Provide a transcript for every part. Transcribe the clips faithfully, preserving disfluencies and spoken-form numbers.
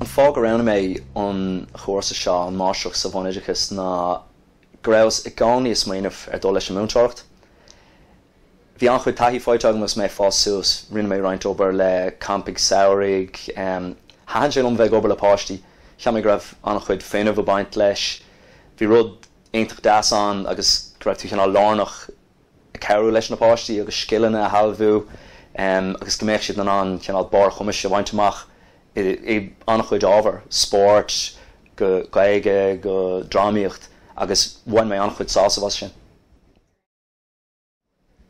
An fáth gur roghnaigh mé an chúrsa seo an máistreacht sa bhunoideachas ná go rabhas i gcónaí ag smaoineamh ar dul leis an múinteoireacht. Bhí an-chuid taithí faighte agam agus mé ag fás suas, rinne mé roinnt obair le campaí samhraidh, thaitin sé liom bheith ag obair le páistí, cheap mé go raibh an-chuid fuinnimh ag baint leis. Bhí rud iontach deas ann agus go raibh tú cineál lárnach ag cabhrú leis na páistí agus scileanna a shealbhú agus go mbeadh siad in ann cineál barr a gcumais a bhaint amach i an-chuid ábhar, spórt, go Gaeilge, go drámaíocht agus bhain mé an-chuid sásamh as sin.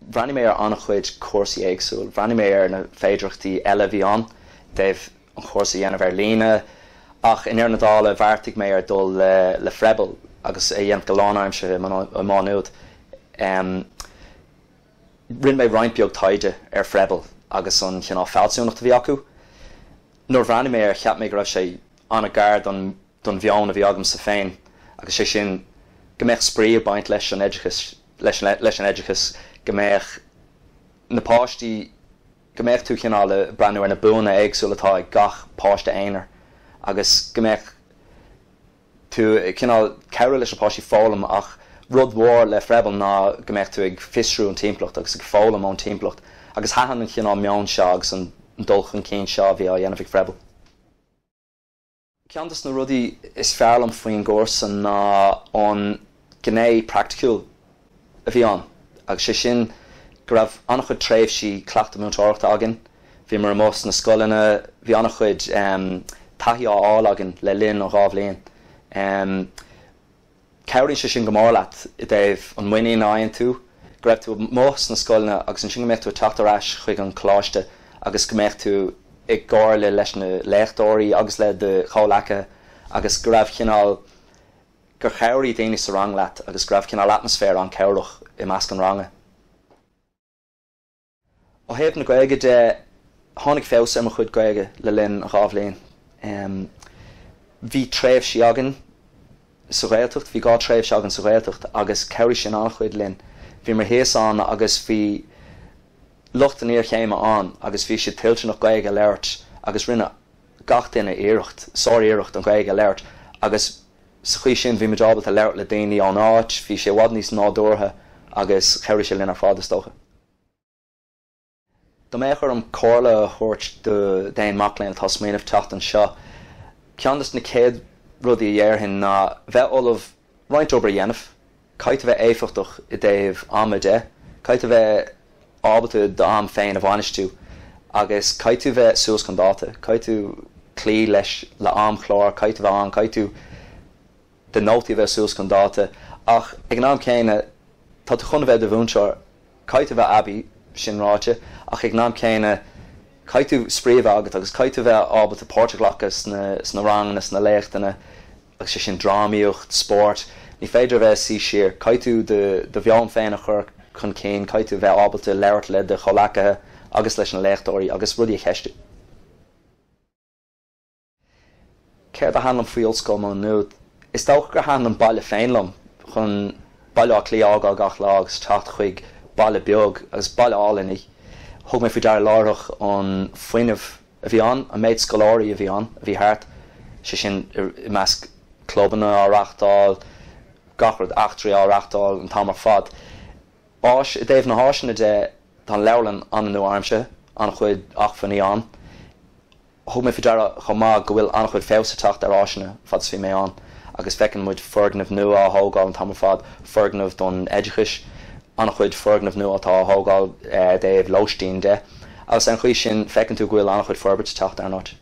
Bhreathnaigh mé ar an-chuid cúrsaí éagsúil, bhreathnaigh mé ar na féidearthachtaí eile a bhí ann, dtaobh an chúrsa a dhéanamh ar líne, ach i ndeireadh na dála bheartaigh mé ar dul le le Frebel agus é dhéanamh go lánaimseartha i Má Nuad. Um, Rinne mé roinnt beag taighde ar Frebel agus an cineál fealsúnacht a bhí acu. Nuair bhreathnaigh mé ar cheap mé go raibh sé an-ghar don don mheon a bhí agamsa féin agus sé sin go mbeadh spraoi ag baint leis an oideachas leis leis an oideachas go mbeadh na páistí go mbeadh tú cineál ag breathnú ar na buanna éagsúla atá ag gach páiste aonair agus go mbeadh tú cineál cabhrú leis na páistí foghlaim ach rud mhór le Frebel ná go mbeadh tú ag fiosrú an timpeallacht agus ag foghlaim ón timpeallacht agus thaitin an cineál meon seo agus an dul chun cinn seo a bhí á dhéanamh ag Frebel. Ceann de na rudaí is fearr liom faoin gcúrsa ná an gné praiticiúil a bhí ann agus sé sin go raibh an-chuid tréimhsí cleachtadh múinteoireachta againn, bhíomar amuigh sna scoileanna, bhí an-chuid um, taithí á fháil againn le linn an dhá bhliain. Um, Cabhraíonn sé sin go mór leat i dtaobh an muinín a fhaigheann tú, go raibh tú amuigh sna scoileanna agus ansin go mbeadh tú ag teacht ar ais chuig an choláiste agus go mbeadh tú i gcomhairle leis na léachtóirí agus le do chomhleacaithe agus go raibh cineál gur chabhraigh daoine sa rang leat agus go raibh cineál atmaisféar an-chabhrach i measc an ranga. Ó thaobh na Gaeilge de tháinig feabhas ar mo chuid Gaeilge le linn an dhá bhliain. Um, bhí tréimhsí againn sa Ghaeltacht, bhí dhá tréimhse againn sa Ghaeltacht agus chabhraigh sin an-chuid linn. Bhíomar thíos ann agus bhí lucht an iarchéime ann agus bhí siad toilteanach Gaeilge a labhairt agus rinne gach duine iarracht, sár-iarracht an Ghaeilge a labhairt agus sa chaoi sin bhí muid ábalta labhairt le daoine ón áit, bhí sé i bhfad níos nádúrtha agus chabhraigh sé linn ar fad is dócha. Dá mbeadh orm comhairle a thabhairt d'aon mac léinn atá ag smaoineamh teacht anseo. Ceann de na céad rudaí a dhéarfainn ná bheith ullamh roinnt obair a dhéanamh, caithfidh tú bheith éifeachtach i dtaobh ama de, caithfidh tú bheith ábalta d'am féin a bhainistiú agus caithfidh tú bheith suas chun dáta, caithfidh tú cloí leis le amchlár, caithfidh tú bheith ann, caithfidh tú do nótaí a bheith suas chun dáta ach ag an am céanna tá tú chun a bheith i do mhúinteoir, caithfidh tú bheith aibí sin ráite ach ag an am céanna caithfidh tú spraoi a bheith agat agus caithfidh tú bheith ábalta páirt a ghlacadh sna sna ranganna sna léachtanna agus sé sin drámaíocht, spórt, ní féidir a bheith suí siar, caithfidh tú do mheon féin a chur chun cinn, caithfidh tú bheith ábalta labhairt le do chomhleacaithe agus leis na léachtóirí agus rudaí a cheistiú. Céard a thaitin liom faoi Ollscoil Mhá Nuad? Is dócha gur thaitin an baile féin liom, chun Baile Átha Cliath a fhágáil gach lá agus teacht chuig baile beag agus baile álainn é. Thug mé faoi deara láithreach an fuinneamh a bhí ann, an méid scoláirí a bhí ann, a bhí thart, sé sin i measc clubanna á reáchtáil, gach rud, eachtraí á reáchtáil an t-am ar fad. Áis, i dtaobh na háiseanna de, tá an leabharlann an-nua-aimseartha, an-chuid acmhainní ann. Thug mé faoi deara chomh maith go bhfuil an-chuid feabhas ag teacht ar áiseanna fad is bhí mé ann agus feiceann muid foirgnimh nua á thógáil an t-am ar fad, foirgnimh don oideachais, an-chuid foirgneamh nua atá á thógáil i dtaobh lóistín de agus ar an chaoi sin feiceann tú go bhfuil an-chuid forbairt ag teacht ar an áit.